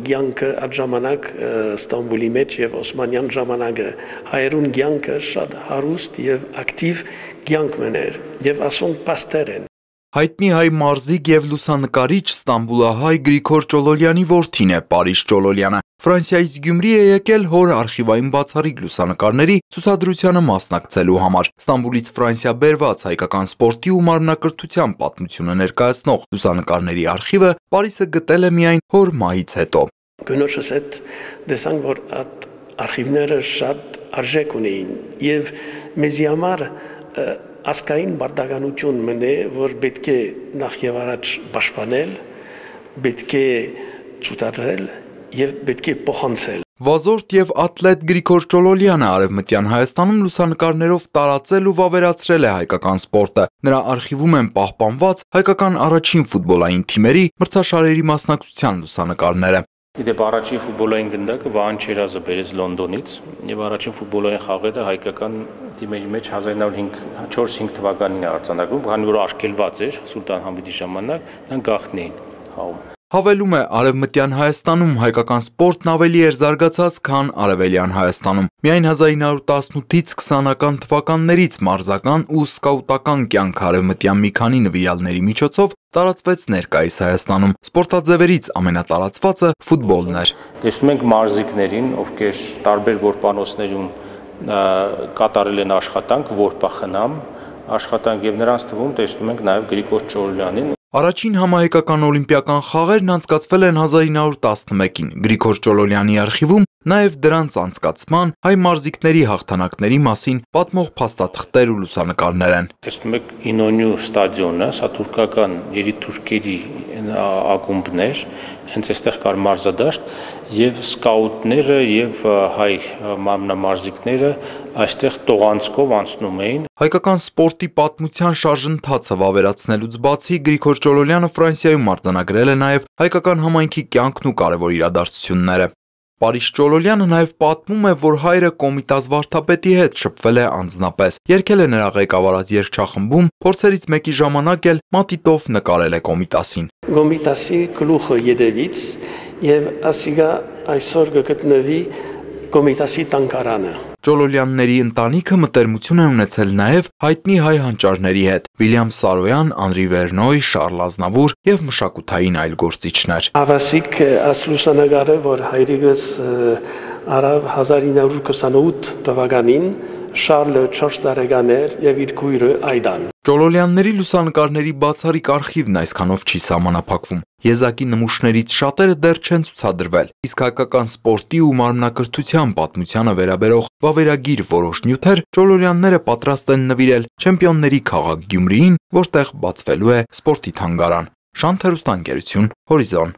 կյանքը այդ ժամանակ Ստամբուլի մեջ եւ Օսմանյան ժամանակը հայերուն կյանքը շատ հարուստ եւ ակտիվ կյանք մներ եւ ասոնք պաստեր են։ Հայտնի հայ մարզիկ եւ լուսանկարիչ Ստամբուլահայ Գրիգոր Ճոլոլյանի որդին է Պարիս Ճոլոլյանը։ Ֆրանսիայից Գյումրի է եկել հոր արխիվային բացառիկ լուսանկարների ցուցադրությանը մասնակցելու համար։ Ստամբուլից Ֆրանսիա բերված հայկական սպորտի ու մարմնակրթության պատմությունը ներկայացնող լուսանկարների արխիվը Պարիսը գտել է միայն հոր մահից հետո։ Գնոջս հետ տեսանք, որ այդ արխիվները շատ արժեք ունեին եւ մեզի համար ասկային բարդականություն մնե, որ պետք է նախ եւ առաջ պաշտպանել, պետք է ցուցադրել եւ պետք է փոխանցել։ Վազորդ եւ ատլետ Գրիգոր Ճոլոլյանը Արևմտյան Հայաստանում լուսանկարներով տարածել ու վավերացրել է հայկական սպորտը։ Նրա արխիվում են պահպանված հայկական առաջին ֆուտբոլային թիմերի մրցաշարերի մասնակցության լուսանկարները։ Իդեպ առաջին ֆուտբոլային գնդակը Վահան Չերազը բերեց Լոնդոնից եւ առաջին ֆուտբոլային խաղերը հայկական թիմերի մեջ 1904-5 թվականին է արձանագրվում, քանի որ արգելված էր Սուլտան Համիդի ժամանակ, նրանք գաղտնի էին խաղում։ Հավելում է Արևմտյան Հայաստանում հայկական սպորտն ավելի էր զարգացած, քան Արևելյան Հայաստանում։ Միայն 1918-ից 20-ական թվականներից մարզական ու սկաուտական կյանք արևմտյան մի քանի նվիրյալների միջոցով տարածվեց ներկայիս Հայաստանում։ Սպորտաձևերից ամենատարածվածը ֆուտբոլն էր։ Տեսնում ենք մարզիկներին, ովքեր տարբեր որպանոցներում կատարել են աշխատանք, որպախնամ աշխատանք եւ նրանց թվում տեսնում ենք նաեւ Գրիգոր Ճոլոլյանին։ Առաջին համահայկական օլիմպիական խաղերն անցկացվել են 1911-ին։ Գրիգոր Ճոլոլյանի արխիվում նաև դրանց անցկացման, հայ մարզիկների հաղթանակների մասին պատմող փաստաթղթեր ու լուսանկարներ են։ Տեսնում եք Ինոնյու ստադիոնը, սա թուրքական երիտթուրքերի ակումբներ, հենց այստեղ կար մարզադաշտ եւ սկաուտները եւ հայ մարմնամարզիկները այստեղ տողանցքով անցնում էին։ Հայկական սպորտի պատմության շարժընթացը վավերացնելուց բացի Գրիգոր Ճոլոլյանը Ֆրանսիայում արձանագրել է նաև հայկական համայնքի կյանքն ու կարևոր իրադարձությունները։ Պարիս Ճոլոլյանը նաև պատմում է, որ հայրը Կոմիտաս վարդապետի հետ շփվել է անձնապես, երգել է նրա ղեկավարած երգչախմբում, փորձերից մեկի ժամանակ էլ մատիտով նկարել է Կոմիտասին։ Կոմիտասի գլուխը յետևից եւ ասիգա այսօր կգտնվի Կոմիտասի տանկարանը։ Ճոլոլյանների ընտանիքը մտերմություն է ունեցել նաև հայտնի հայ հանճարների հետ՝ Վիլյամ Սարոյան, Անրի Վերնոյ, Շարլ Ազնավուր եւ մշակութային այլ գործիչներ։ Ավասիկ ասլուսանագարը, որ հայրիկս արավ 1928 թվականին, Շարլը 4 տարեկան էր եւ իր քույրը Այդան։ Ճոլոլյանների լուսանկարների բացառիկ արխիվն այսքանով չի սահմանափակվում։ Եզակի նմուշներից շատերը դեռ չեն ցուցադրվել, իսկ հայկական սպորտի ու մարմնակրթության պատմությանը վերաբերող վավերագիր որոշ նյութեր Ճոլոլյանները պատրաստ են նվիրել չեմպիոնների քաղաք Գյումրիին, որտեղ բացվելու է սպորտի թանգարան։ Շանթ հեռուստաընկերություն, Հորիզոն։